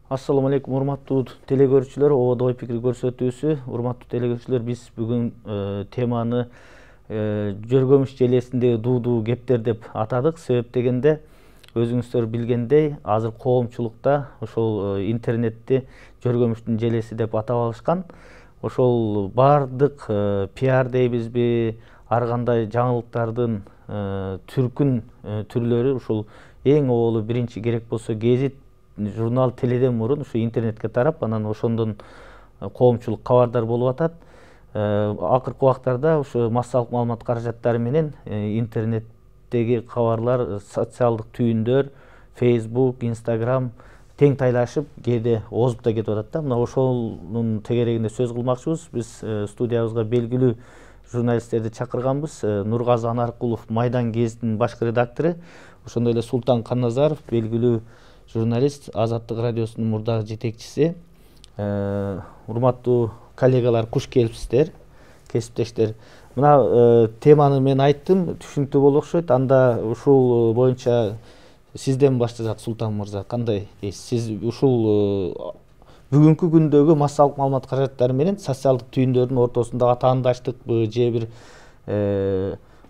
Ассаламу алейкум, урматтуу телекөрүүчүлөр, ободо ой пикир көрсөтүүсү. Урматтуу телекөрүүчүлөр, биз бүгүн теманы жөргөмүш желесиндеги дуу кептер деп атадык. Себеп дегенде, өзүңүздөр билгендей, азыр коомчулукта ошол интернетти жөргөмүштүн желеси деп атап алышкан. Ошол бардык пиар дейбизби, ар кандай жаңылыктардын түркүн түрлөрү ушул эң оболу биринчи керек болсо гезит, журнал, теледен мурун ушу интернетке тарап, анан ошондон коомчулук кабардар болуп атат. Акыркы убактарда ушу массалык маалымат каражаттары менен интернеттеги кабарлар, социалдык түйүндөр, Facebook, Instagram тең тайлашып, кээде озуп да кетип атат да. Мына ошонун тегерегинде сөз кылмакчыбыз. Биз студиябызга белгилүү журналисттерди чакырганбыз. Нургазы Анаркулов, Майдан гезитинин башкы редактору, ошондой эле Султан Канназаров, белгилүү журналист, Азаттык радиосунун мурдагы жетекчиси. Урматтуу коллегалар, куш келипсиздер, кесиптештер. Мына теманы мен айттым, түшүнүктүү болуп окшойт. Анда ушул боюнча сизден баштасак, Султан мырза, кандай дейсиз? Сиз ушул бүгүнкү күндөгү массалык маалымат каражаттары менен социалдык түйүндөрдүн ортосундагы атаандаштыкпы же бир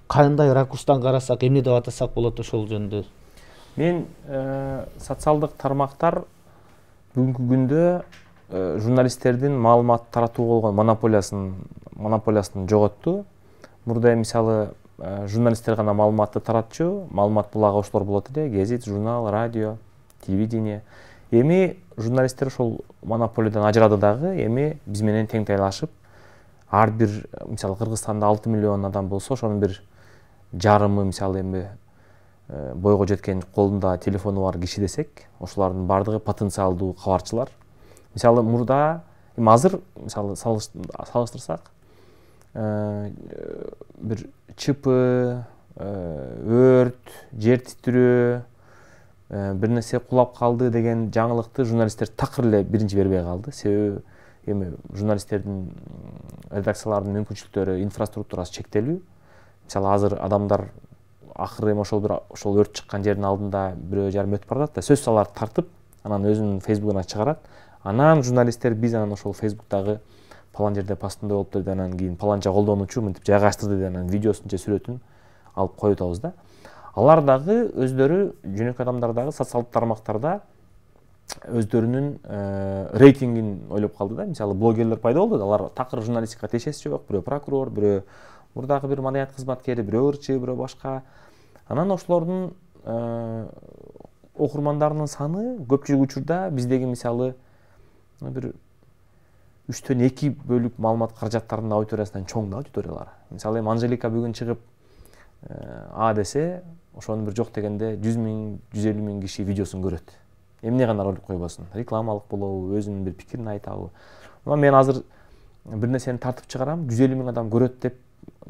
кандай ракурстан карасак, эмне деп атасак болот ошол жөнүндө? Мен социалдык тармактар бүгүнкү күндө журналисттердин маалымат таратууга болгон монополиясын жоготту. Мурда мисалы журналисттер гана маалыматты таратчу, маалымат булагы ошолор болот эле, гезит, журнал, радио, телевидение. Эми журналисттер ошол монополиядан ажырады дагы, эми биз менен тең тайлашып, ар бир мисалы Кыргызстанда 6 миллион адам болсо, ошонун бир жарымы мисалы эми бойго жеткен колунда телефону бар киши десек, ошолардын бардыгы потенциалдуу кабарчылар. Мисалы мурда, эми азыр мисалы салыштырсак, бир ЧП, өрт, жер титирөө, бир нерсе кулап калды деген жаңылыкты журналисттер такыр эле биринчи бербей калды. Себеби эми журналисттердин, редакциялардын мүмкүнчүлүктөрү, инфраструктурасы чектелүү. Мисалы азыр адамдар акыры эми ошол өрт чыккан жердин алдында бирөө жарым өтүп баратат да, сөз саларды тартып, анан өзүнүн фейсбугуна чыгарат. Анан журналисттер биз анан ошол фейсбуктагы палан жерде постунда болуптур деп, анан кийин паланча колдонуучу мынтип жайгаштырды деп, анан видеосун же сүрөтүн алып коюп атабыз да. Алар дагы өздөрү, жөнөкөй адамдар дагы социалдык тармактарда өздөрүнүн рейтингин ойлоп калды да. Мисалы блогерлер пайда болду да, алар такыр журналистикага тиешеси жок, бирөө прокурор, бирөө мурдагы бир маданият кызматкери, бирөө ырчы, бирөө башка. Анан ошолордун окурмандарынын саны көпчүлүк учурда биздеги мисалы бир 3/2 бөлүк маалымат каражаттарынын аудиториясынан чоң да аудиториялар. Мисалы эми Анжелика бүгүн чыгып А десе, ошонун бир жок дегенде 100 000, 150 000 киши видеосун көрөт. Эмне гана ролик койбосун, рекламалык болобу, өзүнүн бир пикирин айтабы. Мен азыр бир нерсени тартып чыгарам, 150 000 адам көрөт деп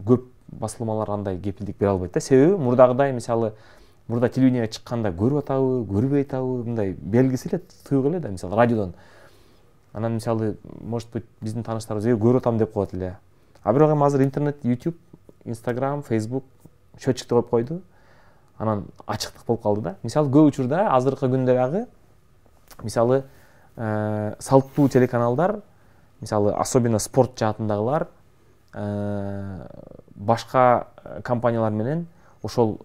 көп басылмалар андай кепилдик бере албайт да. Себеби мурдагыдай мисалы мурда телевидениеге чыкканда көрүп атабы, көрбөй атабы, мындай белгиси эле тыйык эле да, мисалы радиодон. Анан мисалы, может быть, биздин тааныштарыбыз көрүп атам деп коет эле. А бирок эми азыр интернет, YouTube, Instagram, Facebook счетчикти коюп койду. Анан ачыктык болуп калды да. Мисалы көп учурда азыркы күндө дагы мисалы салттуу телеканалдар, мисалы особенно спорт жаатындагылар башка компаниялар менен ошол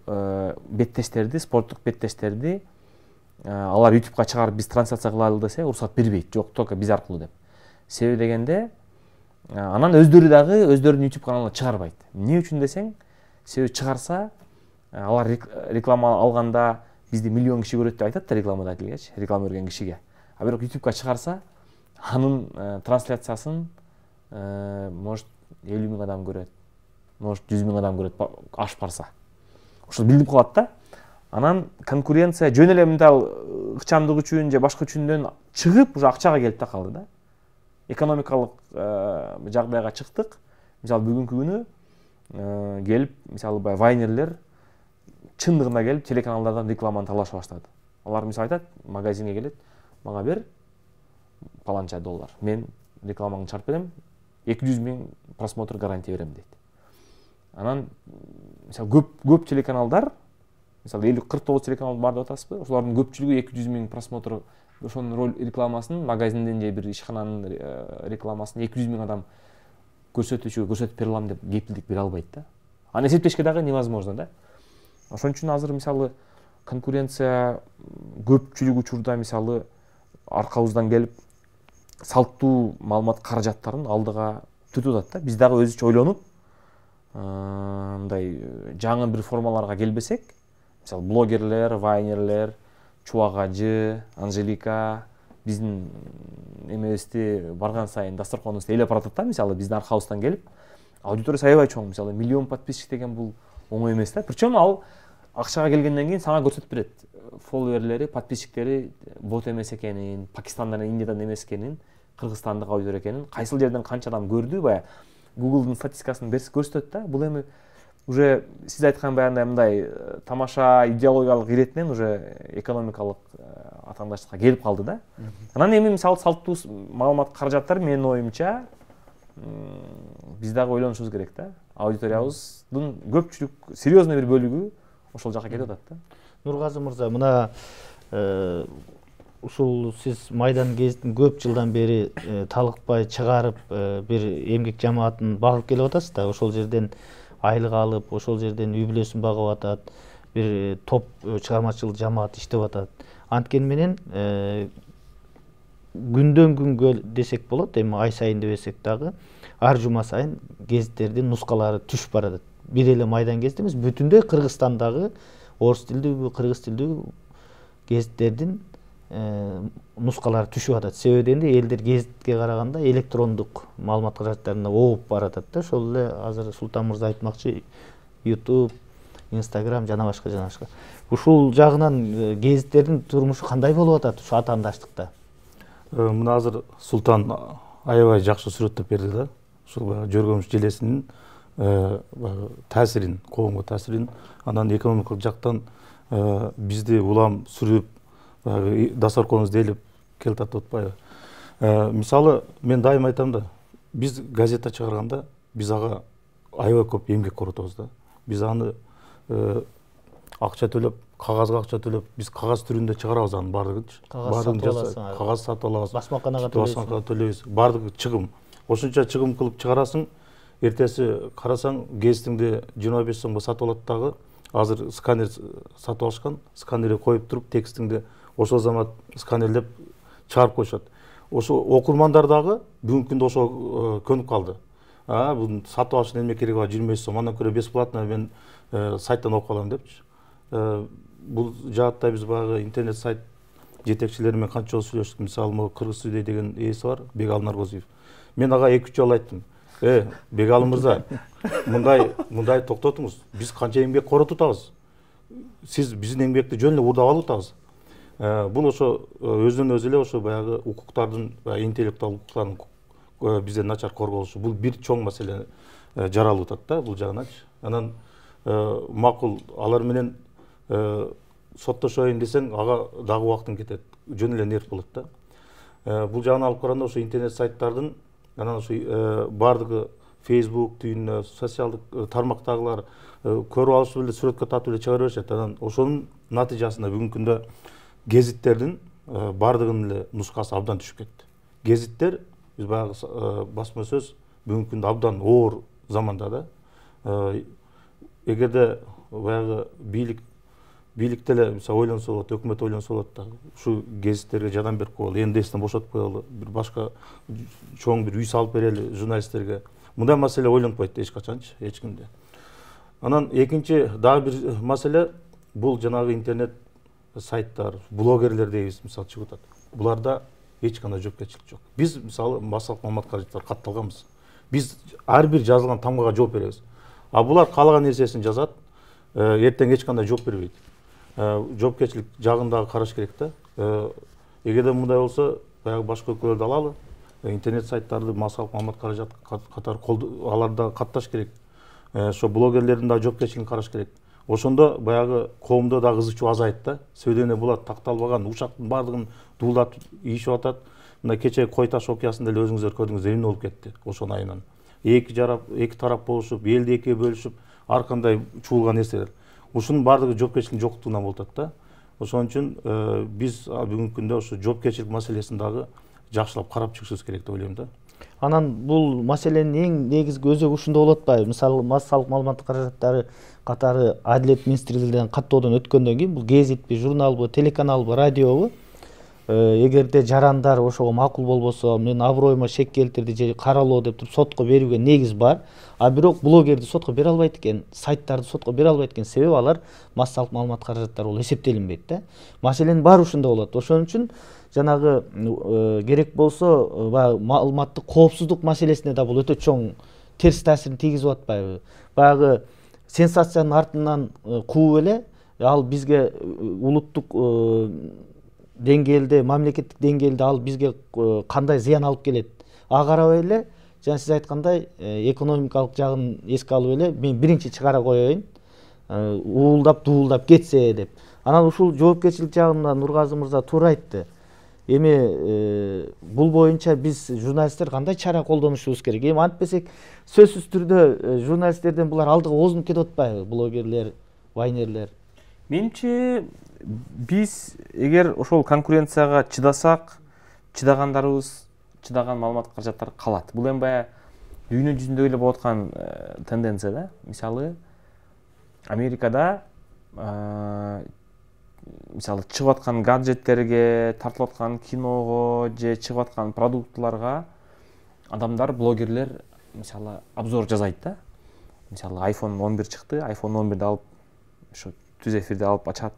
беттештерди, спорттук беттештерди алар YouTubeга чыгарып биз трансляция кылалы десе, уруксат бербейт. Жок, только биз аркылуу деп. Себеби дегенде, анан өздөрү дагы өздөрүнүн YouTube каналына чыгарбайт. Эмне үчүн десең, себеби чыгарса, алар реклама алганда бизди миллион киши көрөт деп айтат да рекламада келгеч, реклама берген кишиге. А бирок YouTubeга чыгарса, анын трансляциясын может 50 000 адам көрөт, может 100 000 адам көрөт, ашып барса. Ошол билип калат да. Анан конкуренция жөн эле мындай ыкчамдык үчүн же башка үчүндөн чыгып, уже акчага келип та калды да. Экономикалык жагдайга чыктык. Мисалы бүгүнкү күнү келип, мисалы вайнерлер чындыгына келип телеканалдардан рекламаны талаша баштады. Алар мисалы айтат, магазинге келет, мага бер паланча $. Мен рекламаңды чарп берем, 200 000 просмотр гарантия берем дейт. Анан мисалы көп телеканалдар, мисалы 50-49 телеканал бар деп атасызбы, ошолордун көпчүлүгү 200 000 просмотр ошонун роль рекламасын магазиндин же бир ишкананын рекламасын 200 000 адам көрсөтүүчүгө көрсөтүп бере алам деп кепилдик бере албайт да. Аны эсептешке дагы невозможно да. Ошон үчүн азыр мисалы конкуренция көпчүлүк учурда мисалы аркабыздан келип салттуу маалымат каражаттарын алдыга түртүп атат да. Биз дагы өзүчө ойлонуп мындай жаңы бир формаларга келбесек, мисалы блогерлер, вайнерлер, Чубак ажы, Анжелика биздин эмебизди барган сайын дасторконубузду ээлеп баратат да. Мисалы биздин аркабыздан келип аудиториясы аябай чоң. Мисалы миллион подписчик деген бул оңой эмес да. Причем ал акчага келгенден кийин сага көрсөтүп берет. Фолловерлери, подписчиктери бот эмес экенин, Пакистандан, Индиядан эмес экенин, Кыргызстандык аудитория экенин, кайсыл жерден канча адам көрдү, баягы Google'дун статистикасын көрсөтөт да. Бул эми уже сиз айткан баягындай мындай тамаша идеологиялык иретинен уже экономикалык атаандаштыкка келип калды да. Анан эми мисалы салттуу маалымат каражаттар менин оюмча биз дагы ойлонушубуз керек да. Аудиториябыздын көпчүлүк серьезный бир бөлүгү ошол жака кетип атат да. Нургазы мырза, мына ушул сиз Майдан гезитин көп жылдан бери талыкпай чыгарып бир эмгек жамаатын багып келип атасыз да. Ошол жерден айлык алып, ошол жерден үй бүлөсүн багып атат, бир топ чыгармачыл жамаат иштеп атат. Анткени менен күндөн күнгө десек болот, эми ай сайын дебесек дагы ар жума сайын гезиттердин нускалары түшүп баратат. Бир эле Майдан гезит эмес, бүтүндөй Кыргызстандагы орус тилдүү, кыргыз тилдүү гезиттердин нускалары түшүп атат. Себеби дегенде элдер гезитке караганда электрондук маалымат каражаттарына ооп баратат да. Ошол эле азыр Султан мырза айтмакчы YouTube, Instagram жана башка жана башка. Ушул жагынан гезиттердин турмушу кандай болуп атат ушу атаандаштыкта? Мына азыр Султан аябай жакшы сүрөттөп берди да. Ушул жөргөмүш желесинин таасирин, коомго таасирин, анан экономикалык жактан бизди улам сүрүп, дасторконубузду ээлеп келатат атпайбы. Мисалы, мен дайым айтам да, биз газета чыгарганда биз ага аябай көп эмгек коротобуз да. Биз аны акча төлөп, кагазга акча төлөп, биз кагаз түрүндө чыгарабыз анын баардыгынчы. Кагаз сатып алабыз. Басмаканага төлөйбүз. Баардыгы чыгым. Ошончо чыгым кылып чыгарасың, эртеси карасаң гезитиңди 25 сомго сатып алат дагы. Азыр сканер сатып алышкан, сканерге коюп туруп текстиңди ошол замат сканерлеп чыгарып коюшат. Ошо окурмандар дагы бүгүнкү күндө ошо көнүп калды. Бул сатып алыштын эмне кереги бар, 25 сом, андан көрө бесплатно мен сайттан окуп алам депчи. Бул жаатта биз баягы интернет сайт жетекчилери менен канча жолу сүйлөштүк. Мисалы, могу Кыргыз студия деген ээси бар, Бегалым Наргозиев. Мен ага 2-3 жолу айттым. Бегалым мырза, мындай токтотуңуз. Биз канча эмгек коротуп атабыз. Сиз биздин эмгекти жөн эле уурдап алып атабыз. Бул ошо өзүнөн өзү эле ошо баягы укуктардын, интеллектуал укуктардын бизде начар корголушу. Бул бир чоң маселе жаралып атат да бул жагыначы. Анан макул алар менен соттошоюн десең, ага дагы убактың кетет. Жөн эле нерв болот да. Бул жагын алып караганда ошо интернет сайттардын, анан ошо бардыгы Facebook түйүнүнө, социалдык тармактагылар көрүп алышып эле сүрөткө татып эле чыгара беришет. Анан ошонун натыйжасында бүгүнкү күндө гезиттердин бардыгынын эле нускасы абдан түшүп кетти. Гезиттер биз баягы басма сөз бүгүнкү күндө абдан оор заманда да. Эгерде баягы бийлик деле мисалы ойлонсо болот, өкмөт ойлонсо болот да, ушу гезиттерге жардам берип коелу, НДСтен бошотуп коелу, бир башка чоң бир үй салып берели журналисттерге. Мындай маселе ойлонбойт эч качанчы, эч кимде. Анан экинчи дагы бир маселе бул жанагы интернет сайттар, блогерлер дейбиз, мисалы чыгып атат. Буларда эч кандай жоопкерчилик жок. Биз мисалы массалык маалымат каражаттар катталганбыз. Биз ар бир жазылган тамгага жооп беребиз. Булар каалаган нерсесин жазат, эртең эч кандай жооп бербейт. Жоопкерчилик жагын дагы караш керек да. Эгерде мындай болсо, баягы башка өлкөлөрдө алалы, интернет сайттарды массалык маалымат каражат катары аларда катташ керек. Ошо блогерлердин да жоопкерчилигин караш керек. Ошондо баягы коомдо да кызык азайт да. Себеби булар такталбаган ушактын бардыгын дуулатып ийишип атат. Мына кече Кой таш окуясында эле өзүңүздөр көрдүңүз, эмне болуп кетти ошонун айынан. Эки тарап болушуп, элди экиге бөлүшүп, ар кандай чуулган нерселер. Ушунун бардыгы жоопкерчиликтин жоктугунан болуп атат да. Ошон үчүн биз бүгүнкү күндө ушу жоопкерчилик маселесин дагы жакшылап карап чыгышыбыз керек деп ойлойм да. Анан бул маселенин эң негизги өзөгү ушунда болуп атпайбы? Мисалы, массалык маалыматтык каражаттары катары Адилет министрлигинен каттоодон өткөндөн кийин бул гезитпи, журналбы, телеканалбы, радиобу эгерде жарандар ошого макул болбосо, менин аброюма шек келтирди же каралоо деп туруп сотко берүүгө негиз бар. А бирок блогерди сотко бере албайт экен, сайттарды сотко бере албайт экен, себеби алар массалык маалымат каражаттары болуп эсептелинбейт да. Маселенин баары ушунда болот. Ошон үчүн жанагы керек болсо баягы маалыматтык коопсуздук маселесине да бул өтө чоң терс таасирин тийгизип атпайбы? Баягы сенсациянын артынан кууп эле ал бизге улуттук деңгээлде, мамлекеттик деңгээлде ал бизге кандай зыян алып келет? Ага карабай эле, жана сиз айткандай экономикалык жагын эске алып эле мен биринчи чыгара коеюн, уулдап дуулдап кетсе деп. Анан ушул жоопкерчилик жагында Нургазы мырза туура айтты. Эми бул боюнча биз журналисттер кандай чара колдонушубуз керек? Эми антпесек сөзсүз түрдө журналисттерден булар алдыга озунуп кетип атпайбы? Блогерлер, вайнерлер. Менимче биз эгер ошол конкуренцияга чыдасак, чыдагандарыбыз, чыдаган маалымат каражаттар калат. Бул эми баягы дүйнө жүзүндө эле болуп аткан тенденция да. Мисалы, Америкада мисалы чыгып аткан гаджеттерге, тартылып аткан киного же чыгып аткан продуктларга адамдар, блогерлер мисалы обзор жасайт да. Мисалы iPhone 11 чыкты, iPhone 11-ди алып ошо түз эфирде алып ачат,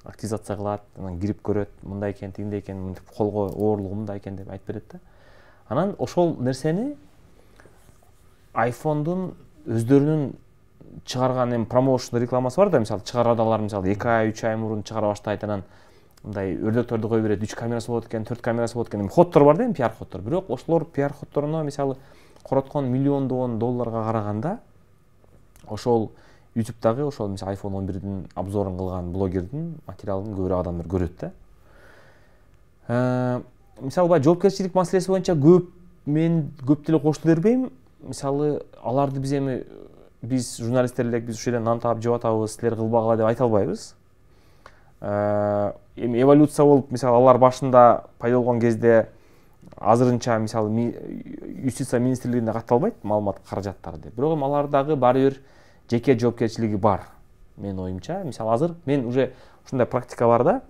активизация кылат, анан кирип көрөт, мындай экен, тигиндей экен, мынтип колго оорлугу мындай экен деп айтып берет да. Анан ошол нерсени iPhone'дун өздөрүнүн чыгарган эми промоушн рекламасы бар да, мисалы чыгарадалар мисалы 2 ай, 3 ай мурун чыгара баштайт, анан мындай өрдөктөрдү кое берет, 3 камерасы болот экен, 4 камерасы болот экен. Эми ходдор бар да, эми пиар ходдор. Бирок ошолор пиар ходдоруна мисалы короткон миллиондогон долларга караганда ошол YouTube'дагы ошол мисалы iPhone 11-дин обзорун кылган блогердин материалын көбүрөөк адамдар көрөт да. Мисалы баягы жоопкерчилик маселеси боюнча мен көп деле кошулу бербейм. Мисалы аларды биз журналисттер элек биз ушул жерден нан таап жеп атабыз, силер кылбагыла деп айта албайбыз. Эми эволюция болуп, мисалы алар башында пайда болгон кезде азырынча мисалы юстиция министрлигине катталбайт маалымат каражаттары деп. Бирок эми алардагы баары бир жеке жоопкерчилиги бар, менин оюмча. Мисалы азыр мен уже ушундай практика бар да,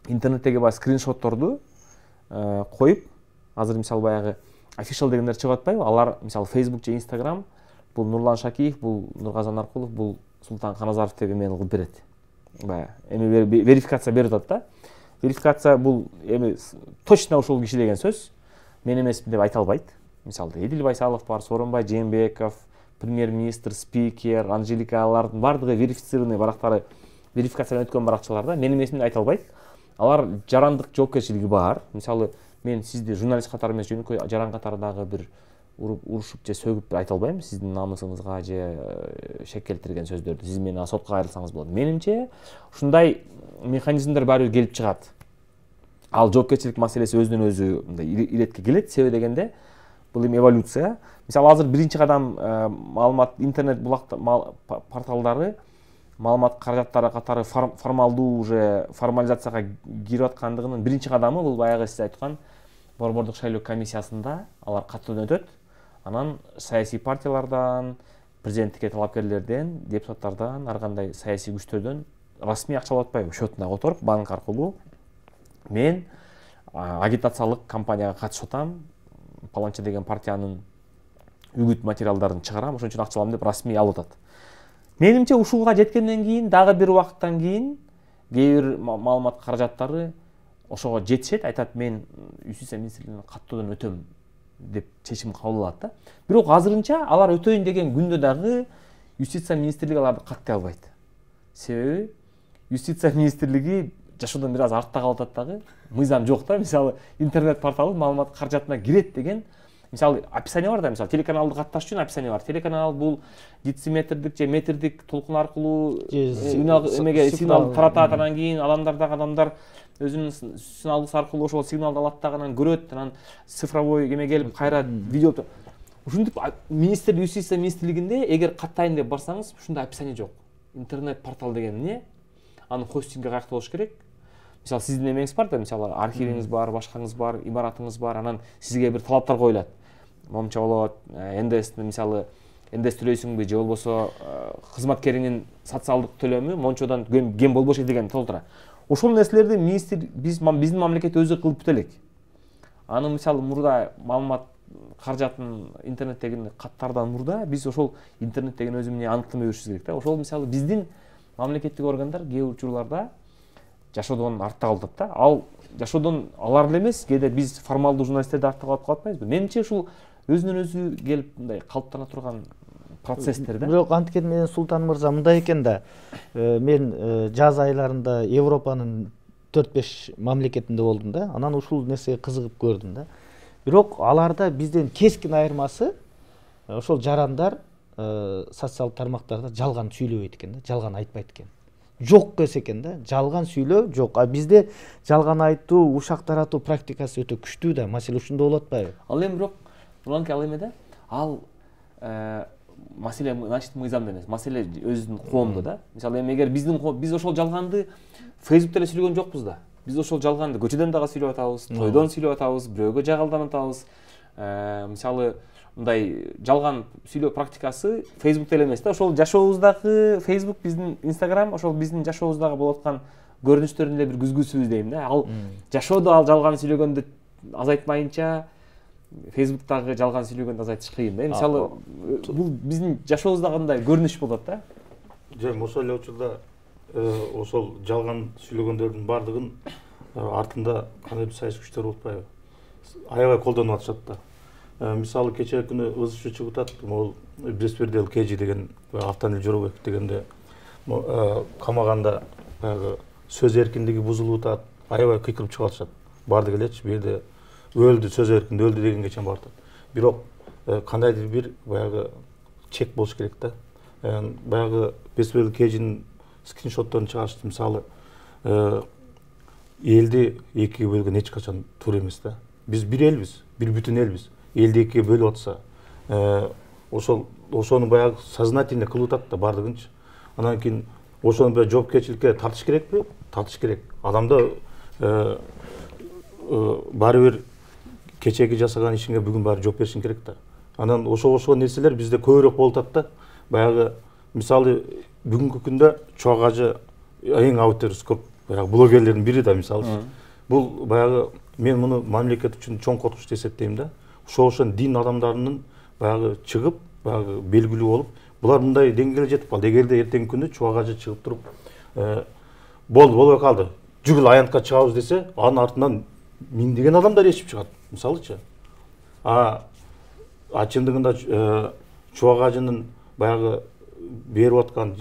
интернеттеги баягы скриншотторду коюп, азыр мисалы баягы official дегендер чыгып атпайбы? Алар мисалы Facebook же Instagram, бул Нурлан Шакиев, бул Нургазы Наркулов, бул Султан Каназаров деп эмен кылып берет. Баягы эми верификация берип атат да. Верификация бул эми точно ошол киши деген сөз. Мен эмесмин деп айта албайт. Мисалы Эдил Байсалов бар, Сооронбай Жээнбеков, премьер-министр, спикер, Анжелика, алардын бардыгы верифицированный барактары, верификациядан өткөн баракчалар да. Мен эмесмин деп айта албайт. Алар жарандык жоопкерчилиги бар. Мисалы мен сизди журналист катары эмес, жөнөкөй жаран катары дагы бир урушуп же сөгүп айта албайм сиздин намысыңызга же шек келтирген сөздөрдү. Сиз менен сотко кайрылсаңыз болот. Менимче ушундай механизмдер баары келип чыгат. Ал жоопкерчилик маселеси өзүнөн өзү мындай иретке келет. Себеби дегенде бул эми эволюция. Мисалы азыр биринчи кадам маалымат интернет порталдары маалымат каражаттары катары формалдуу уже формализацияга кирип аткандыгынын биринчи кадамы бул баягы сиз айткан борбордук шайлоо комиссиясында алар каттоодон өтөт. Анан саясий партиялардан, президенттикке талапкерлерден, депутаттардан, ар кандай саясий күчтөрдөн расмий акча алып атпайбы, счетуна которуп, банк аркылуу мен агитациялык кампанияга катышып атам, паланча деген партиянын үгүт материалдарын чыгарам, ошон үчүн акча алам деп расмий алып атат. Менимче ушуга жеткенден кийин дагы бир убакыттан кийин кээ бир маалымат каражаттары ошого жетишет, айтат мен юстиция министрлигинен каттоодон өтөм деп чечим кабыл алат да. Бирок азырынча алар өтөйүн деген күндө дагы юстиция министрлиги аларды каттай албайт. Себеби юстиция министрлиги жашоодон бир аз артта калып атат дагы. Мыйзам жок да. Мисалы интернет порталы маалымат каражатына кирет деген мисалы описание бар да, мисалы телеканалды катташ үчүн описание бар. Телеканал бул дециметрдик же метрдик толкун аркылуу сигнал таратат, анан кийин адамдар өзүнүн сигналдысы аркылуу ошол сигналды алат дагы анан көрөт, анан цифровой эме келип кайра видео. Ушинтип юстиция министрлигинде эгер каттайын деп барсаңыз ушундай описание жок. Интернет портал деген эмне? анын хостинги каякта болуш керек. Мисалы сиздин эмеңиз бар да, мисалы архивиңиз бар, башкаңыз бар, имаратыңыз бар, анан сизге бир талаптар коюлат. Момча болот, НДС мисалы НДС төлөйсүңбү же болбосо кызматкериңин социалдык төлөмү мончодан кем болбошу деген толтура. Ошол нерселерди министр биздин мамлекет өзү кылып бүт элек. Аны мисалы мурда маалымат каражатын интернеттеги каттардан мурда биз ошол интернет деген өзү эмне аныктама беришибиз керек да. Ошол мисалы биздин мамлекеттик органдар кээ бир учурларда жашоодон артта калып атат да. Ал жашоодон алар эле эмес, кээде биз формалдуу журналисттерди артта калып атпайбызбы? Менимче ушул өзүнөн өзү келип мындай калыптана турган процесстер да. Бирок антикен менен Султан мырза мындай экен да. Мен жаз айларында Европанын 4-5 мамлекетинде болдум да. Анан ушул нерсеге кызыгып көрдүм да. Бирок аларда бизден кескин айырмасы ошол жарандар социалдык тармактарда жалган сүйлөбөйт экен да, жалган айтпайт экен. Жок десе экен да, жалган сүйлөө жок. А бизде жалган айтуу, ушак таратуу практикасы өтө күчтүү да. Маселе ушунда болуп атпайбы? Ал эми бирок буланки ал эме да. Ал маселе значит мыйзамда эмес, маселе өзүнүн коомдо да. Мисалы эми эгер биз ошол жалганды Facebook'та эле сүйлөгөн жокпуз да. Биз ошол жалганды көчөдөн дагы сүйлөп атабыз, тойдон сүйлөп атабыз, бирөөгө жагалданып атабыз. Мисалы мындай жалган сүйлөө практикасы Facebook'та эле эмес да. Ошол жашообуздагы Facebook, биздин Instagram, ошол биздин жашообуздагы болуп аткан көрүнүштөрдүн эле бир күзгүсүбүз дейм да. Ал жашоодо ал жалган сүйлөгөндү азайтмайынча Facebook'тагы жалган сүйлөгөндү азайтыш кыйын да. Мисалы бул биздин жашообуздагы мындай көрүнүш болот да. Жөн ошол эле учурда ошол жалган сүйлөгөндөрдүн баардыгын артында кандайдыр саясий күчтөр болуппайбы? Аябай колдонуп атышат да. Мисалы кечээ күнү ызышы чыгып атат, могул Беспердел Кежи деген Автанил Жоробеков дегенде камаганда баягы сөз эркиндиги бузулуп атат, аябай кыйкырып чыгып атышат. Бардык элечи, бул жерде өлдү, сөз эркинде өлдү дегенге чейин барып атат. Бирок кандайдыр бир баягы чек болуш керек да. Баягы Беспердел Кежинин скриншотторун чыгарышты, мисалы элди экиге бөлгөн эч качан туура эмес да. Биз бир элбиз, бир бүтүн элбиз. Элди экиге бөлүп атса, ошону баягы сознательно кылып атат да бардыгынчы. Анан кийин ошону баягы жоопкерчиликке тартыш керекпи? Тартыш керек. Адамда баары бир кечеги жасаган ишиңе бүгүн баары жооп беришиң керек да. Анан ошол нерселер бизде көбүрөөк болуп атат да. Баягы мисалы бүгүнкү күндө Чубак ажы эң аудиториясы көп баягы блогерлердин бири да мисалы. Бул баягы мен муну мамлекет үчүн чоң коркунуч деп эсептейм да. Ошол дин адамдарынын баягы чыгып, баягы белгилүү болуп, булар мындай деңгээлге жетип калды. Эгерде эртеңки күнү Чубак ажы чыгып туруп, болбой калды, жүгүл аянтка чыгабыз десе, анын артынан миңдеген адамдар ешип чыгат, мисалычы. Чындыгында Чубак ажынын баягы берип аткан,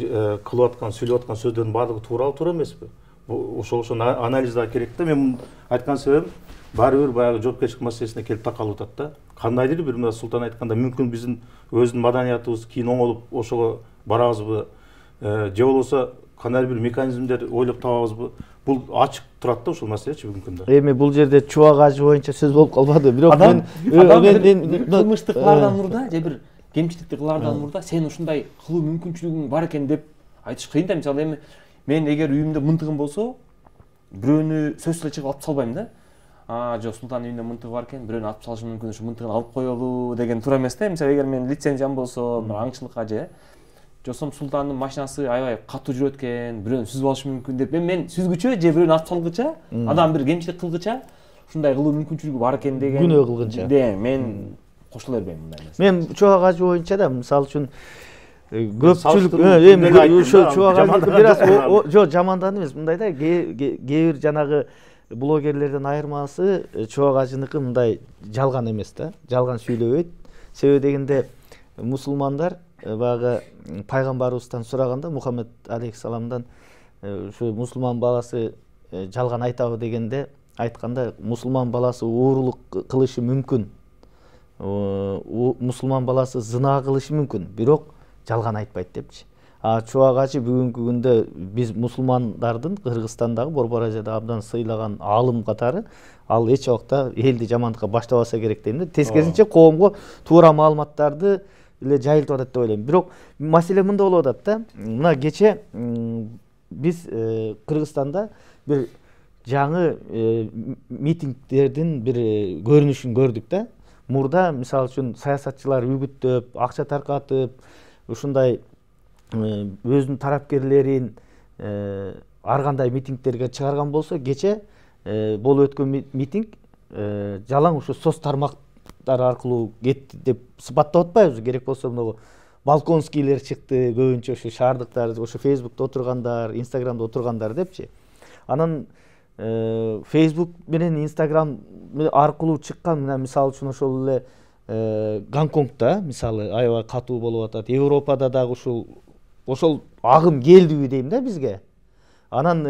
кылып аткан, сүйлөп аткан сөздөрдүн баардыгы туура эмеспи? Ошол анализ да керек да. Мен айткан себебим баары бир баягы жоопкерчилик маселесине келип такалып атат да. Кандайдыр бир мына Султан айтканда мүмкүн биздин өзүнүн маданиятыбыз кийин оңолуп ошого барабызбы, же болбосо кандайдыр бир механизмдер ойлоп табабызбы? Бул ачык турат да ушул маселечи бүгүнкү күндө. Эми бул жерде Чубак ажы боюнча сөз болуп калбады. Бирок мен кылмыштык кылаардан мурда же бир кемчиликти кылаардан мурда сен ушундай кылуу мүмкүнчүлүгүң бар экен деп айтыш кыйын да. Мисалы эми мен эгер үйүмдө мынтыгым болсо, бирөөнү сөзсүз эле чыгып алып салбайм да. Жок, Султандын үйүндө мынтыгы бар экен, бирөөнү алып салышы мүмкүн, ушу мынтыгын алып коелу деген туура эмес да. Мисалы эгер мен лицензиям болсо, аңчылыкка же жосом Султандын машинасы аябай катуу жүрөт экен, бирөөнү сүзүп алышы мүмкүн деп мен сүзгүчө же бирөөнү алып салгыча, адам бир кемчилик кылгыча, ушундай кылуу мүмкүнчүлүгү бар экен деген күнөө кылгынча. Мен кошула бербейм мындай нерсе. Мен Чубак ажы боюнча да мисалы үчүн көпчүлүк эми ошо Чубак ажы бир аз жок жамандан эмес, мындай да, кээ бир жанагы блогерлерден айырмасы Чубак ажыныкы мындай жалган эмес да, жалган сүйлөбөйт. Себеби дегенде мусулмандар баягы пайгамбарыбыздан сураганда, Мухаммед алейхиссаламдан ушу мусулман баласы жалган айтабы дегенде айтканда, мусулман баласы уурулук кылышы мүмкүн, мусулман баласы зына кылышы мүмкүн, бирок жалган айтпайт депчи. Чубак ажы бүгүнкү күндө биз мусулмандардын Кыргызстандагы Борбор Азияда абдан сыйлаган аалым катары, ал эч убакта элди жамандыкка баштабаса керек дейм да. Тескерисинче коомго туура маалыматтарды эле жайылтып атат деп ойлойм. Бирок маселе мында болуп атат да. Мына кече биз Кыргызстанда бир жаңы митингдердин бир көрүнүшүн көрдүк да. Мурда мисалы үчүн саясатчылар үгүттөп, акча таркатып, ушундай өзүнүн тарапкерлерин ар кандай митингдерге чыгарган болсо, кече болуп өткөн митинг жалаң ушу соц тармактар аркылуу кетти деп сыпаттап атпайбызбы? Керек болсо могу балконскийлер чыкты, көбүнчө ушу шаардыктар, ушу Фейсбукта отургандар, Инстаграмда отургандар депчи. Анан Facebook менен Instagram аркылуу чыккан, мына мисалы үчүн ошол эле Гонконгдо мисалы аябай катуу болуп атат. Европада дагы ошол агым келдиби дейм да бизге. Анан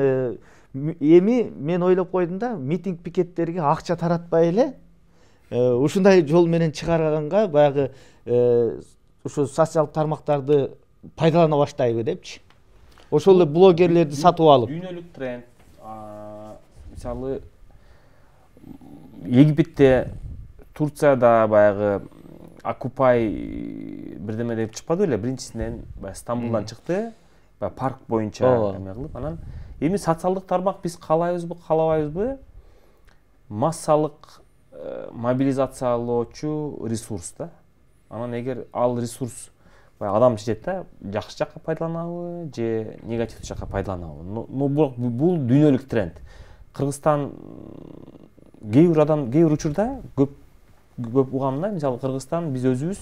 эми мен ойлоп койдум да, митинг пикеттерге акча таратпай эле ушундай жол менен чыгарганга баягы ушу социалдык тармактарды пайдалана баштайбы депчи. Ошол эле блогерлерди сатып алып. Дүйнөлүк тренд. Мисалы Египетте, Турцияда баягы Окупай бирдеме деп чыкпады эле, биринчисинен Стамбулдан чыкты, парк боюнча эме кылып. Анан эми социалдык тармак биз каалайбызбы, каалабайбызбы, массалык мобилизациялоочу ресурс да. Анан эгер ал ресурс адам чечет да, жакшы жакка пайдаланабы же негативдүү жакка пайдаланабы. Бул дүйнөлүк тренд. Кыргызстан кээ бир учурда көп угам да, мисалы Кыргызстан биз өзүбүз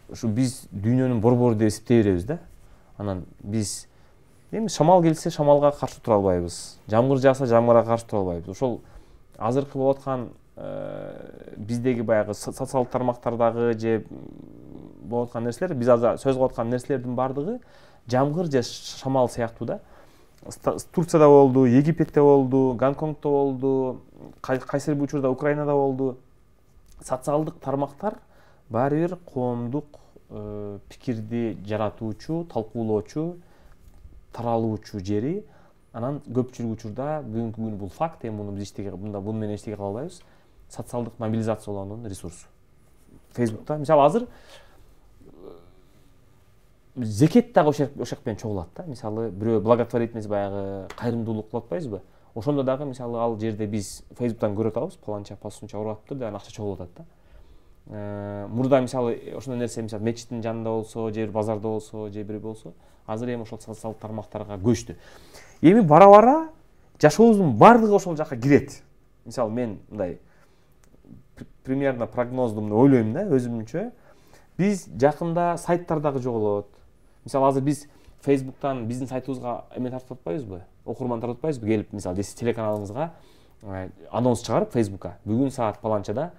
ушу биз дүйнөнүн борбору деп эсептей беребиз да. Анан биз эми шамал келсе шамалга каршы тура албайбыз, жамгыр жааса жамгырга каршы тура албайбыз. Ошол азыркы болуп аткан биздеги баягы социалдык тармактардагы же болуп аткан нерселер, биз азыр сөз кылып аткан нерселердин баардыгы жамгыр же шамал сыяктуу да. Турцияда болду, Египетте болду, Гонконгдо болду, кайсы бир учурда Украинада болду. Социалдык тармактар баары бир коомдук пикирди жаратуучу, талкуулоочу, таралуучу жери. Анан көпчүлүк учурда бүгүнкү күнү бул факт, эми муну биз буну менен эчтеке кыла албайбыз. Социалдык мобилизациялоонун ресурсу. Фейсбукта мисалы азыр зекет дагы ошак менен чогулат да. Мисалы бирөө благотворительность баягы кайрымдуулук кылып атпайбызбы? Ошондо дагы мисалы ал жерде биз Фейсбуктан көрүп атабыз, паланча пасунча уруп атыптыр деп акча чогулуп атат да. Мурда мисалы ошондой нерсе мисалы мечиттин жанында болсо, же бир базарда болсо, же бир болсо, азыр эми ошол социалдык тармактарга көчтү. Эми бара-бара жашообуздун баардыгы ошол жака кирет. Мисалы мен мындай примерно прогноздум деп ойлойм да, өзүмчө. Биз жакында сайттар дагы жоголот. Мисалы азыр биз Фейсбуктан биздин сайтыбызга эме тартып атпайбызбы? Окурман тартып атпайбызбы? Келип мисалы телеканалыңызга анонс чыгарып Фейсбукка бүгүн саат паланчада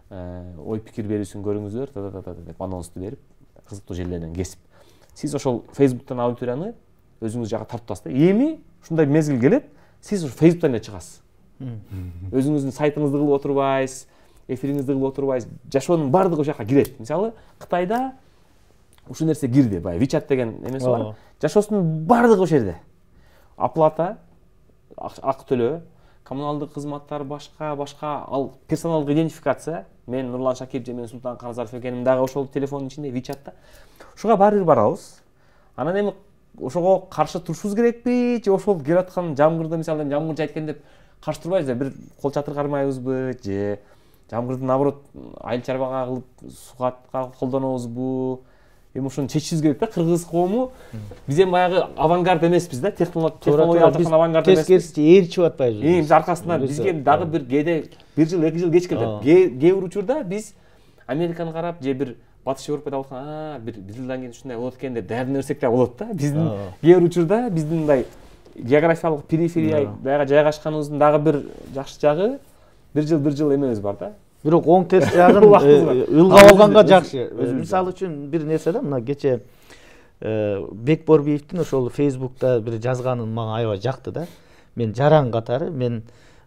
ой пикир берүүсүн көрүңүздөр деп анонсту берип, кызыктуу жерлерден кесип. Сиз ошол Фейсбуктан аудиторияны өзүңүз жака тартып атасыз. Эми ушундай мезгил келет, сиз ушу Фейсбуктан эле чыгасыз. Өзүңүздүн сайтыңызды кылып отурбайсыз, эфириңизди кылып отурбайсыз, жашоонун баардыгы ошол жака кирет. Мисалы Кытайда ушул нерсе кирди, баягы WeChat деген эмеси бар. Жашоосунун баардыгы ошол жерде. Оплата, акы төлөө, коммуналдык кызматтар, башка ал персоналдык идентификация. Мен Нурлан Шакиев же мен Султан Каназаров экеним дагы ошол телефондун ичинде WeChatта. Ушуга баары бир барабыз. Анан эми ошого каршы турушубуз керекпи же ошол келип аткан жамгырды мисалы жамгыр жайт экен деп каршы турбайбыз да, бир кол чатыр кармайбызбы же жамгырды наоборот айыл чарбага кылып сугатка колдонобузбу? Эми ушуну чечишибиз керек да. Кыргыз коому биз эми баягы авангард эмеспиз да, технологиялык жактан авангард эмеспиз. Тескерисинче ээрчип атпайбыз. Биз аркасынан бизге дагы бир кээде 1 жыл 2 жыл кеч келет. Кээ бир учурда биз Американы карап же бир Батыш Европада болсо, бир жылдан кийин ушундай болот экен деп даярданып берсек да болот да. Биздин кээ бир учурда биздин мындай географиялык периферия баягы жайгашканыбыздын дагы бир жакшы жагы 1 жыл эмебиз бар да. Бирок оң терс жагын ылгап алганга жакшы. Мисалы үчүн бир нерсе да, мына кече Бекборбиевдин ошол Фейсбукта бир жазганын мага аябай жакты да. Мен жаран катары мен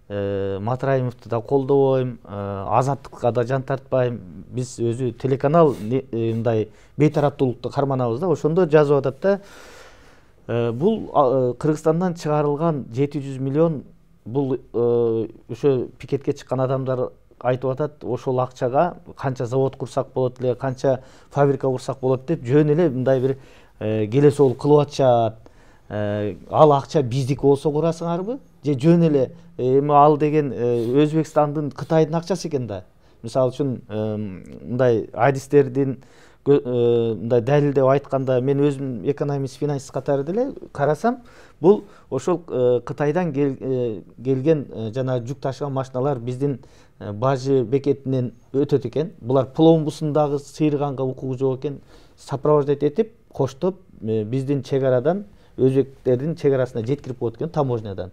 Матраимовду да колдобойм, Азаттыкка да жан тартпайм. Биз өзү телеканал мындай бейтараптуулукту карманабыз да. Ошондо жазып атат да. Бул Кыргызстандан чыгарылган 700 миллион бул ошо пикетке чыккан адамдар айтып атат, ошол акчага канча завод курсак болот эле, канча фабрика курсак болот деп жөн эле мындай бир келе сол кылып атышат. ал акча биздики болсо курасыңарбы же жөн эле эми ал деген Өзбекстандын, Кытайдын акчасы экен да. Мисалы үчүн мындай адистердин мындай далилдеп айтканда мен өзүм экономист, финансист катары деле карасам, бул ошол Кытайдан келген жана жүк ташыган машиналар биздин бажы бекетинен өтөт экен. Булар пломбусундагы сыйырганга укугу жок экен. Сопровождать этип, коштоп биздин чек арадан өзбектердин чек арасына жеткирип коет экен, таможнядан.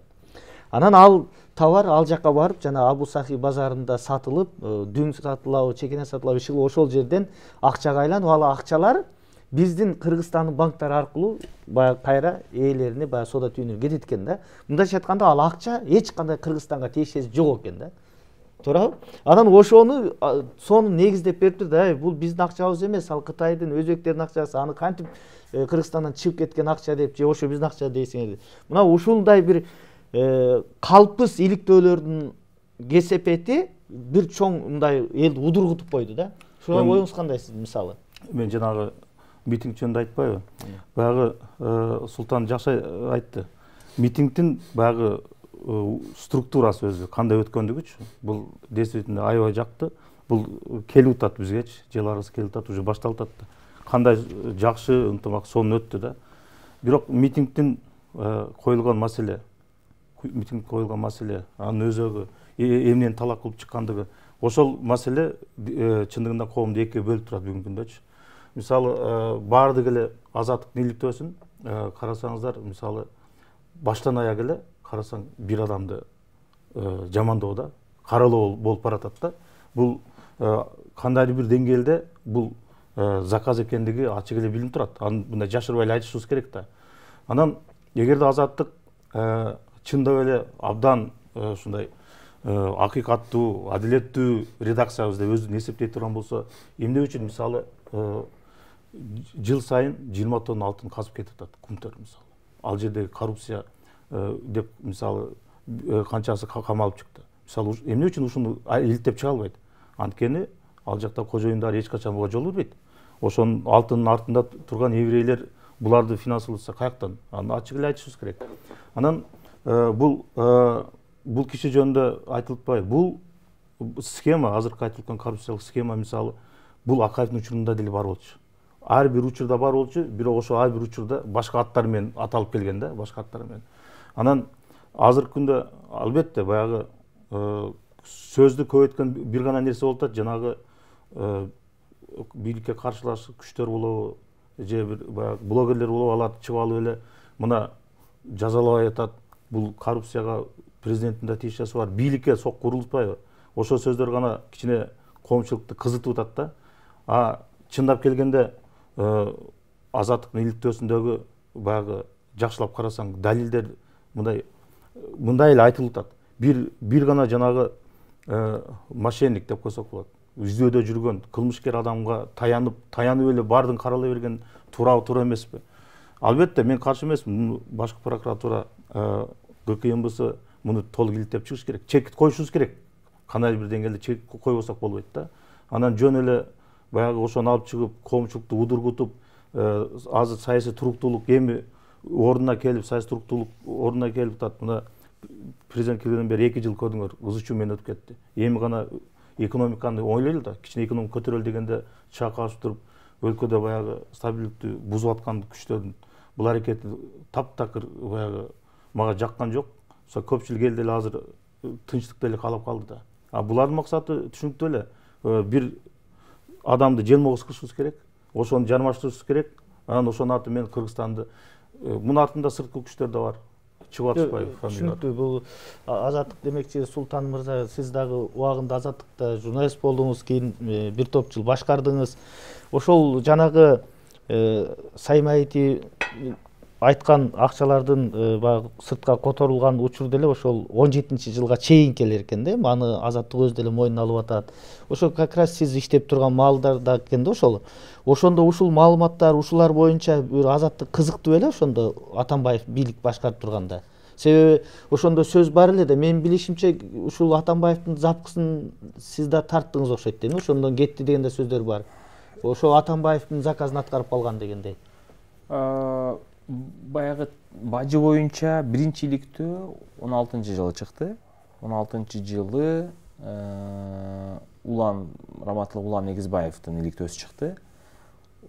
Анан ал товар ал жака барып, жана Абу Сахи базарында сатылып, дүң сатылабы, чекене сатылабы, иши ошол жерден акчага айланып, ал акчалар биздин Кыргызстандын банктары аркылуу баягы кайра ээлерине, баягы соода түйүнүнө кетет экен да. Мындайча айтканда, ал акча эч кандай Кыргызстанга тиешеси жок экен да. Туурабы? Анан ошону сонун негиздеп бериптир да, бул биздин акчабыз эмес, ал Кытайдын, өзбектердин акчасы, аны кантип Кыргызстандан чыгып кеткен акча деп, же ошо биздин акча дейсиңер. Мына ушундай бир калпыс иликтөөлөрдүн кесепети бир чоң мындай элди удургутуп койду да. Ушуга оюңуз кандай сиздин мисалы? Мен жанагы митинг жөнүндө айтпайбы? Баягы Султан жакшы айтты. Митингдин баягы структурасы өзү кандай өткөндүгүчү, бул действительно аябай жакты. Бул келип атат бизгечи, жыларыбыз келип атат, уже башталып атат. Кандай жакшы ынтымак сонун өттү да. Бирок митингдин коюлган маселе, анын өзөгү эмнени талап кылып чыккандыгы, ошол маселе чындыгында коомду экиге бөлүп турат бүгүнкү күндөчү. Мисалы, баардык эле азаттыктын иликтөөсүн карасаңыздар, мисалы, баштан аяк эле карасаң бир адамды жамандоо да, каралоо болуп баратат да. Бул кандайдыр бир деңгээлде бул заказ экендиги ачык эле билинип турат. Аны мындай жашырбай эле айтышыбыз керек да. Анан эгерде азаттык чындап эле абдан ушундай акыйкаттуу, адилеттүү редакциябыз деп өзүн эсептей турган болсо, эмне үчүн мисалы жыл сайын 20 тонна алтын казып кетип атат кумтөр мисалы. Ал жердеги коррупция деп мисалы канчасы камалып чыкты. Мисалы эмне үчүн ушуну иликтеп чыга албайт? Анткени ал жакта кожоюндар эч качан буга жол бербейт. Ошонун алтынын артында турган еврейлер буларды финансыласа каяктан? Аны ачык эле айтышыбыз керек. Анан бул киши жөнүндө айтылбайбы? Бул схема, азыркы айтылган коррупциялык схема мисалы, бул Акаевдин учурунда деле бар болчу. Ар бир учурда бар болчу, бирок ошо ар бир учурда башка аттар менен аталып келген да, башка аттар менен. Анан азыркы күндө албетте баягы сөздү көбөйткөн бир гана нерсе болуп атат, жанагы бийликке каршылаш күчтөр болобу, же бир баягы блогерлер болобу, алар чыгып алып эле мына жазалабай атат, бул коррупцияга президенттин да тиешеси бар, бийликке сок курултпайбы? Ошол сөздөр гана кичине коомчулукту кызытып атат да. А чындап келгенде азаттыктын иликтөөсүндөгү баягы жакшылап карасаң далилдер мындай эле айтылып атат. Бир гана жанагы мошенник деп койсок болот. Издөөдө жүргөн кылмышкер адамга таянып эле баардыгын каралай берген туура эмеспи? Албетте мен каршы эмесмин. Башкы прокуратура, ГКМБС муну толук иликтеп чыгыш керек. Чек коюшубуз керек. Кандайдыр бир деңгээлде чек койбосок болбойт да. Анан жөн эле баягы ошону алып чыгып, коомчулукту удургутуп, азыр саясий туруктуулук эми ордуна келип, саясий туруктуулук ордуна келип атат. Мына президент келгенден бери 2 жыл көрдүңөр, ызы-чуу менен өтүп кетти. Эми гана экономиканы ойлойлу да, кичине экономика көтөрөлү дегенде чакашып туруп, өлкөдө баягы стабилдиктү бузуп аткан күчтөрдүн бул аракети таптакыр баягы мага жаккан жок. Көпчүлүк эл деле азыр тынчтыкты эле каалап калды да. А булардын максаты түшүнүктүү эле. Бир адамды желмогуз кылышыбыз керек, ошону жармаштырышыбыз керек. Анан ошонун аты менен Кыргызстанды, мунун артында сырткы күчтөр да бар. Чыгып атышпайбы? Түшүнүктүү. Бул азаттык демекчи, Султан мырза, сиз дагы убагында азаттыкта журналист болдуңуз, кийин бир топ жыл башкардыңыз. Ошол жанагы Саймаити айткан акчалардын баягы сыртка которулган учур деле ошол 17-жылга чейин келер экен да. Аны азаттык өзү деле мойнуна алып атат. Ошо как раз сиз иштеп турган маалдарда экен да ошол. Ошондо ушул маалыматтар, ушулар боюнча бир азаттык кызыктуу эле ошондо Атамбаев бийлик башкарып турганда. Себеби ошондо сөз бар эле да. Менин билишимче ушул Атамбаевдин запкысын сиз да тарттыңыз окшойт да. Ошондон кетти деген да сөздөр бар. Ошо Атамбаевдин заказын аткарып калган дегендей. баягы бажы боюнча биринчи иликтөө 16-жылы чыкты. 16-жылы Раматылык Улан Негизбаевдин иликтөөсү чыкты.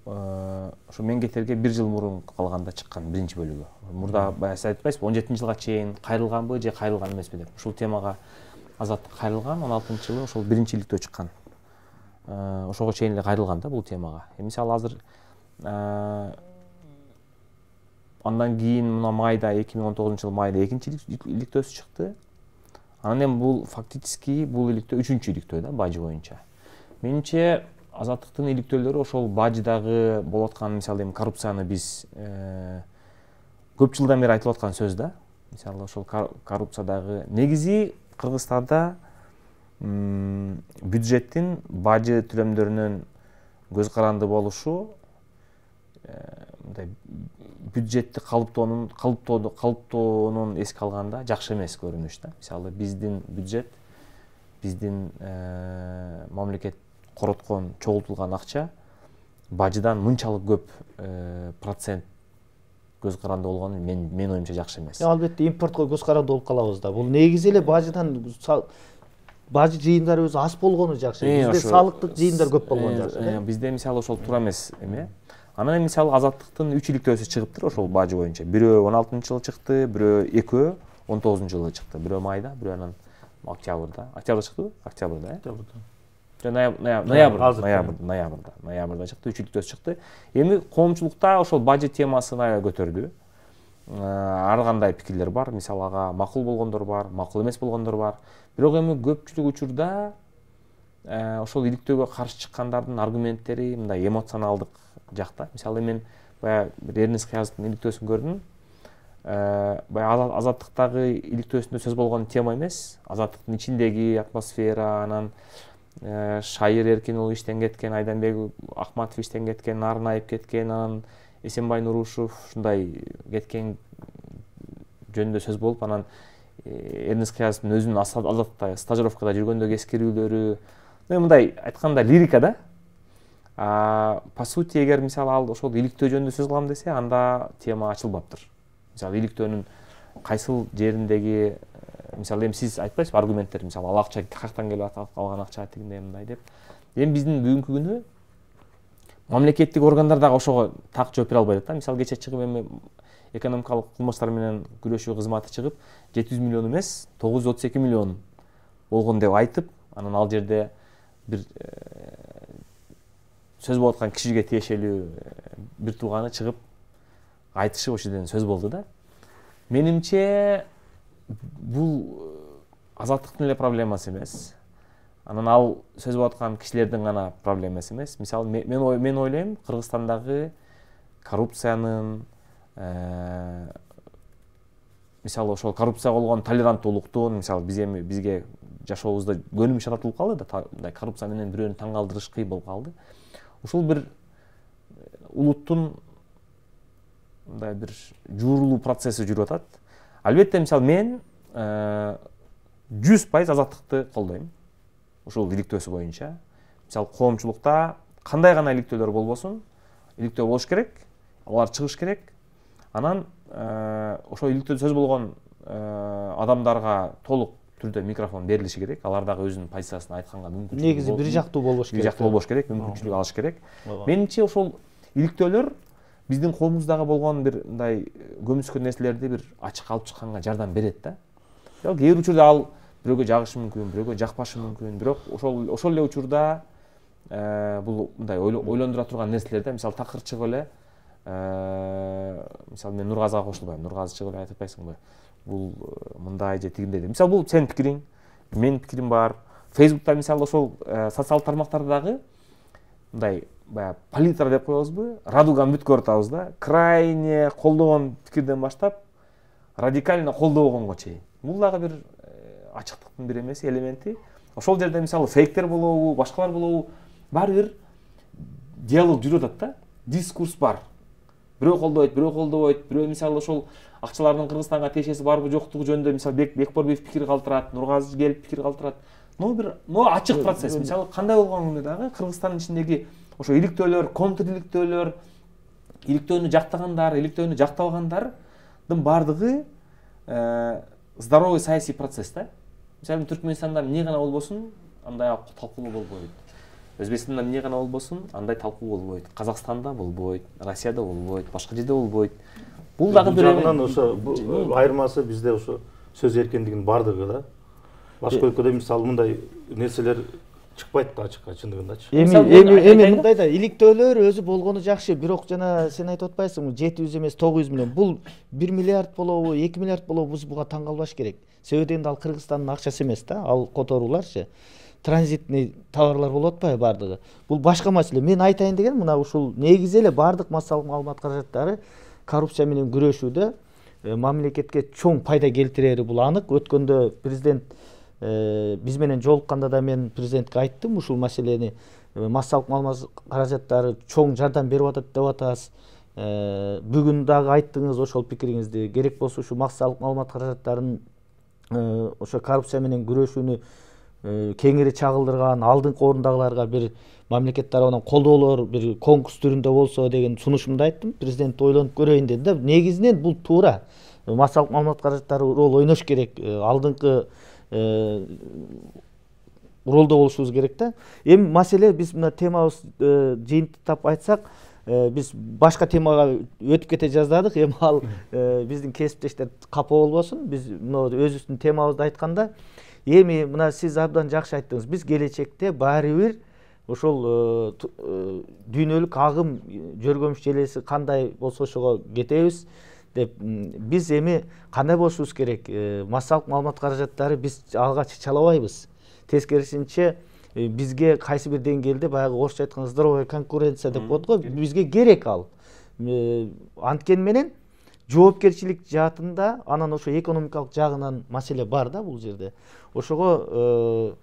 Ошо мен кетерге 1 жыл мурун калганда чыккан биринчи бөлүгү. Мурда баягы сиз айтпайсызбы 17-жылга чейин кайрылганбы же кайрылган эмеспи деп. Ушул темага Азаттык кайрылган 16-жылы ошол биринчи иликтөө чыккан. Ошого чейин эле кайрылган да бул темага. Мисалы азыр андан кийин мына майда 2019-жылы майда экинчи иликтөөсү чыкты. Анан эми бул фактически бул иликтөө 3-үчү иликтөө да бажы боюнча. Менимче Азаттыктын иликтөөлөрү ошол бажыдагы болуп аткан мисалы эми коррупцияны биз көп жылдан бери айтылып аткан сөз да. Мисалы ошол коррупциядагы негизи Кыргызстанда бюджеттин бажы төлөмдөрүнөн көз каранды болушу мындай бюджетти калыптоонун эске алганда жакшы эмес көрүнүш да. Мисалы биздин бюджет, биздин мамлекет короткон, чогултулган акча бажыдан мынчалык көп процент көз каранды болгону менин оюмча жакшы эмес. Албетте импортко көз каранды болуп калабыз да. Бул негизи эле бажыдан бажы жыйындары өзү аз болгону жакшы. Бизде салыктык жыйындар көп болгону жакшы. Бизде мисалы ошол туура эмес эме. Анан мисалы Азаттыктын 3 иликтөөсү чыгыптыр ошол бажы боюнча. Бирөө 16-жылы чыкты, бирөө экөө 19-жылы чыкты. Бирөө майда, бирөө анан октябрда. Октябрда чыктыбы? Октябрда, ноябрда чыкты, 3 иликтөөсү чыкты. Эми коомчулукта ошол бажы темасын аябай көтөрдү. Ар кандай пикирлер бар. Мисалы ага макул болгондор бар, макул эмес болгондор бар. Бирок эми көпчүлүк учурда ошол иликтөөгө каршы чыккандардын аргументтери мындай эмоционалдык жакта. Мисалы мен баягы Эрнест Кыязовдун иликтөөсүн көрдүм. Баягы Азаттыктагы иликтөөсүндө сөз болгон тема эмес. Азаттыктын ичиндеги атмосфера, анан Шайыр Эркин уулу иштен кеткен, Айданбек Акматов иштен кеткен, Нарын Айып кеткен, анан Эсенбай Нурушев ушундай кеткен жөнүндө сөз болуп, анан Эрнест Кыязовдун өзүнүн Азаттыкта стажировкада жүргөндөгү эскерүүлөрү, мындай айтканда лирика да. По сути, эгер мисалы ал ошол иликтөө жөнүндө сөз кылам десе, анда тема ачылбаптыр. Мисалы иликтөөнүн кайсыл жериндеги, мисалы эми сиз айтпайсызбы аргументтер, мисалы ал акча каяктан келип алган акча тигиндей мындай деп. Эми биздин бүгүнкү күнү мамлекеттик органдар дагы ошого так жооп бере албай атат да. Мисалы кече чыгып эми экономикалык кылмыштар менен күрөшүү кызматы чыгып 700 миллион эмес 932 миллион болгон деп айтып, анан ал жерде бир сөз болуп аткан кишиге тиешелүү бир тууганы чыгып айтышып ошол жерден сөз болду да. Менимче бул Азаттыктын эле проблемасы эмес. Анан ал сөз болуп аткан кишилердин гана проблемасы эмес. Мисалы мен ойлойм, Кыргызстандагы коррупциянын мисалы ошол коррупцияга болгон толеранттуулуктун, мисалы бизге жашообузда көнүмүш жаратылып калды да, мындай коррупция менен бирөөнү таң калтырыш кыйын болуп калды. Ушул бир улуттун мындай бир жуурулуу процесси жүрүп атат. Албетте, мисалы мен 100% Азаттыкты колдойм. Ушул иликтөөсү боюнча. Мисалы коомчулукта кандай гана иликтөөлөр болбосун, иликтөө болуш керек, алар чыгыш керек. Анан ошол иликтөөдө сөз болгон адамдарга толук түрдө микрофон берилиши керек. Алар дагы өзүнүн позициясын айтканга мүмкүнчүлүк. Негизи бир жактуу болбош керек. Бир жактуу болбош керек, мүмкүнчүлүк алыш керек. Менимче ошол иликтөөлөр биздин коомубуздагы болгон бир мындай көмүскө нерселерди бир ачыкка алып чыкканга жардам берет да. Кээ бир учурда ал бирөөгө жагышы мүмкүн, бирөөгө жакпашы мүмкүн, бирок ошол эле учурда бул мындай ойлондура турган нерселер да. Мисалы такыр чыгып эле мисалы мен Нургазыга кошулбайм. Нургазы чыгып айтып атпайсыңбы? Бул мындай же тигиндей деп. Мисалы бул сенин пикириң, менин пикирим бар. Фейсбукта мисалы ошол социалдык тармактарда дагы мындай баягы палитра деп коебузбу? Радуганы бүт көрүп атабыз да. Крайне колдогон пикирден баштап радикально колдобогонго чейин. Бул дагы бир ачыктыктын бир эмеси, элементи. Ошол жерде мисалы фейктер болобу, башкалар болобу, баары бир диалог жүрүп атат да. Дискурс бар. Бирөө колдойт, бирөө колдобойт. Бирөө мисалы ошол акчалардын Кыргызстанга тиешеси барбы жоктугу жөнүндө мисалы Бекборбиев пикир калтырат, Нургазы келип пикир калтырат. Ачык процесс. Мисалы кандай болгону дагы Кыргызстандын ичиндеги ошо иликтөөлөр, контр иликтөөлөр, иликтөөнү жактагандар, иликтөөнү жактабагандардын баардыгы здоровый саясий процесс да. Мисалы Түркмөнстанда эмне гана болбосун, андай талкуулоо болбойт. Өзбекстанда эмне гана болбосун, андай талкуу болбойт. Казакстанда болбойт, Россияда болбойт, башка жерде болбойт. Бул дагы бир жагынан ошо айырмасы бизде ошо сөз эркиндигинин бардыгы да. Башка өлкөдө мисалы мындай нерселер чыкпайт да ачыкка чындыгындачы. Эми мындай да иликтөөлөр өзү болгону жакшы, бирок жана сен айтып атпайсыңбы 700 эмес 900 миллион. Бул 1 миллиард болобу, 2 миллиард болобу биз буга таң калбаш керек. Себеби дегенде ал Кыргызстандын акчасы эмес да, ал которууларчы. Транзитный товарлар болуп атпайбы бардыгы. Бул башка маселе. Мен айтайын деген мына ушул негизи эле бардык массалык маалымат каражаттары коррупция менен күрөшүүдө мамлекетке чоң пайда келтирери бул анык. Өткөндө президент биз менен жолукканда да мен президентке айттым ушул маселени. Массалык маалымат каражаттары чоң жардам берип атат деп атабыз. Бүгүн дагы айттыңыз ошол пикириңизди. Керек болсо ушу массалык маалымат каражаттарын ошо коррупция менен күрөшүүнү кеңири чагылдырган, алдыңкы орундагыларга бир мамлекет тарабынан колдоолор бир конкурс түрүндө болсо деген сунушумду айттым. Президент ойлонуп көрөйүн деди да. Негизинен бул туура. Массалык маалымат каражаттары рол ойнош керек. Алдыңкы ролдо болушубуз керек да. Эми маселе биз мына темабыз жыйынтыктап айтсак, биз башка темага өтүп кете жаздадык. Эми ал биздин кесиптештер капа болбосун. Биз мына өзүбүздүн темабызды айтканда, эми мына сиз абдан жакшы айттыңыз. Биз келечекте баары бир ошол дүйнөлүк агым жөргөмүш желеси кандай болсо ошого кетебиз деп биз эми кандай болушубуз керек? Массалык маалымат каражаттары биз алга чычалабайбыз. Тескерисинче бизге кайсы бир деңгээлде баягы орусча айтканда здоровая конкуренция деп коет го, бизге керек ал. Анткени менен жоопкерчилик жаатында анан ошо экономикалык жагынан маселе бар да бул жерде. Ошого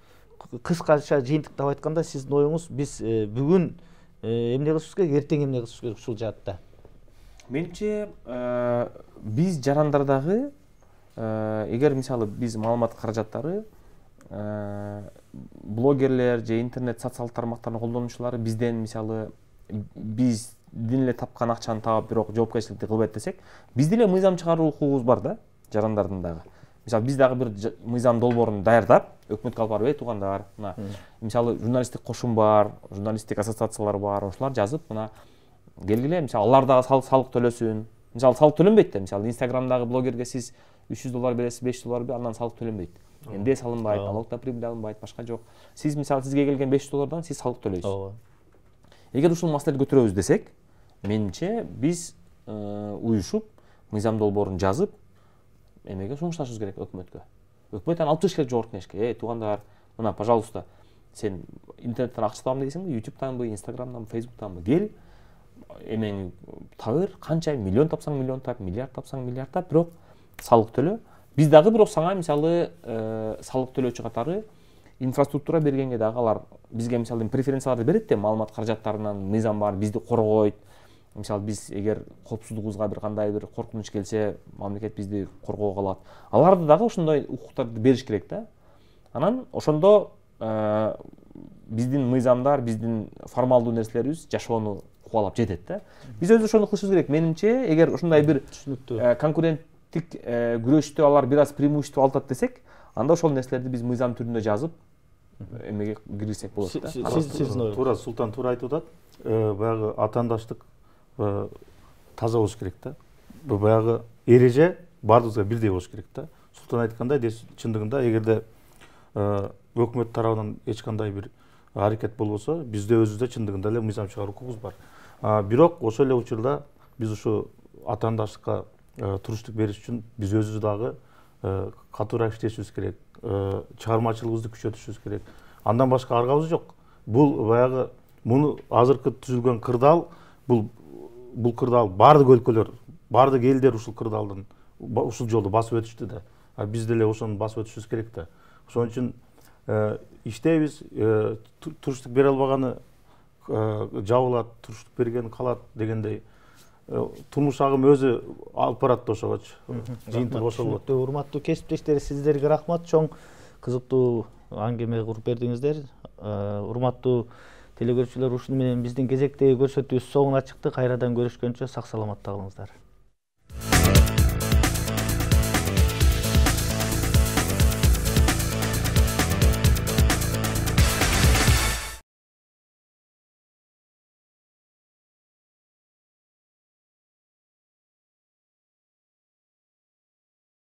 кыскача жыйынтыктап айтканда сиздин оюңуз биз бүгүн эмне кылышыбыз керек, эртең эмне кылышыбыз керек ушул жаатта? Менимче биз жарандардагы эгер мисалы биз маалымат каражаттары блогерлер же интернет социалдык тармактардын колдонуучулары бизден мисалы биздин эле тапкан акчаны таап бирок жоопкерчиликти кылбайт десек, биздин эле мыйзам чыгаруу укугубуз бар да жарандардын дагы. Мисалы биз дагы бир мыйзам долбоорун даярдап өкмөткө алып барып, туугандар, мына мисалы журналисттик кошум бар, журналисттик ассоциациялар бар, ошолар жазып, мына келгиле, мисалы алар дагы салык төлөсүн. Мисалы салык төлөнбөйт да, мисалы Инстаграмдагы блогерге сиз $300 бересиз, $500 бересиз, андан салык төлөнбөйт. НД салынбайт, налогдо прибыль алынбайт, башка жок. Сиз мисалы сизге келген $500 сиз салык төлөйсүз. Эгер ушул маселени көтөрөбүз десек, менимче биз уюшуп мыйзам долбоорун жазып эмеге сунушташыбыз керек өкмөткө. Өкмөт аны алып чыгыш керек жогорку кеңешке. Туугандар, мына, пожалуйста, сен интернеттен акча табам дейсиңби, YouTube'танбы, Instagram'данбы, Facebook'танбы, кел, эмени табыр, канча миллион тапсаң миллион тап, миллиард тапсаң миллиард тап, бирок салык төлө. Биз дагы бирок сага мисалы салык төлөөчү катары инфраструктура бергенге дагы алар бизге мисалы преференцияларды берет да, маалымат каражаттарынан мыйзам бар, бизди коргойт. Мисалы биз эгер коопсуздугубузга бир кандай бир коркунуч келсе, мамлекет бизди коргоого алат. Аларды дагы ошондой укуктарды бериш керек да. Анан ошондо биздин мыйзамдар, биздин формалдуу нерселерибиз жашоону кубалап жетет да. Биз өзү ошону кылышыбыз керек. Менимче, эгер ушундай бир конкуренттик күрөштө алар бир аз преимущество алат десек, анда ошол нерселерди биз мыйзам түрүндө жазып эмеге киргизсек болот да. Сиздин туура Султан туура айтып атат. Баягы атаандаштык таза болуш керек да. Баягы эреже баардыгыбызга бирдей болуш керек да. Султан айткандай, чындыгында эгерде өкмөт тарабынан эч кандай бир аракет болбосо, бизде өзүбүздө чындыгында эле мыйзам чыгаруу укугубуз бар. Бирок ошол эле учурда биз ушу атаандаштыкка туруштук бериш үчүн биз өзүбүз дагы катуураак иштешибиз керек, чыгармачылыгыбызды күчөтүшүбүз керек. Андан башка аргабыз жок. Бул баягы муну азыркы түзүлгөн кырдаал, бул кырдаал баардык өлкөлөр, баардык элдер ушул кырдаалдын ушул жолду басып өтүштү да. Биз деле ошону басып өтүшүбүз керек да. Ошон үчүн иштейбиз, туруштук бере албаганы жабылат, туруштук берген калат дегендей турмуш агымы өзү алып барат да ошогочу. Жыйынтык ошол болот. Урматтуу кесиптештер, сиздерге рахмат. Чоң кызыктуу аңгеме куруп бердиңиздер. Урматтуу Телекөрүүчүлөр, ушуну менен биздин кезектеги көрсөтүүбүз соңуна чыкты. Кайрадан көрүшкөнчө сак саламатта калыңыздар.